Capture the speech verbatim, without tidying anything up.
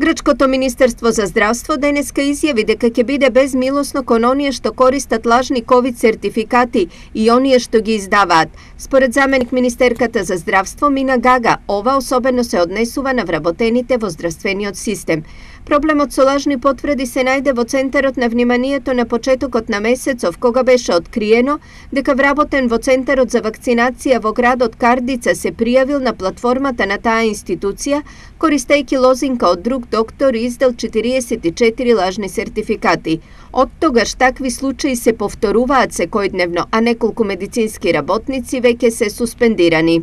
Грчкото Министерство за здравство денеска изјави дека ќе биде безмилосно кон оние што користат лажни ковид сертификати и оние што ги издаваат. Според заменик министерката за здравство Мина Гага, ова особено се однесува на вработените во здравствениот систем. Проблемот со лажни потврди се најде во центарот на вниманието на почетокот на месецов, кога беше откриено дека вработен во Центарот за вакцинација во градот Кардица се пријавил на платформата на таа институција, користејќи лозинка од друг доктор и издал четириесет и четири лажни сертификати. Од тогаш такви случаи се повторуваат секојдневно, а неколку медицински работници веќе се суспендирани.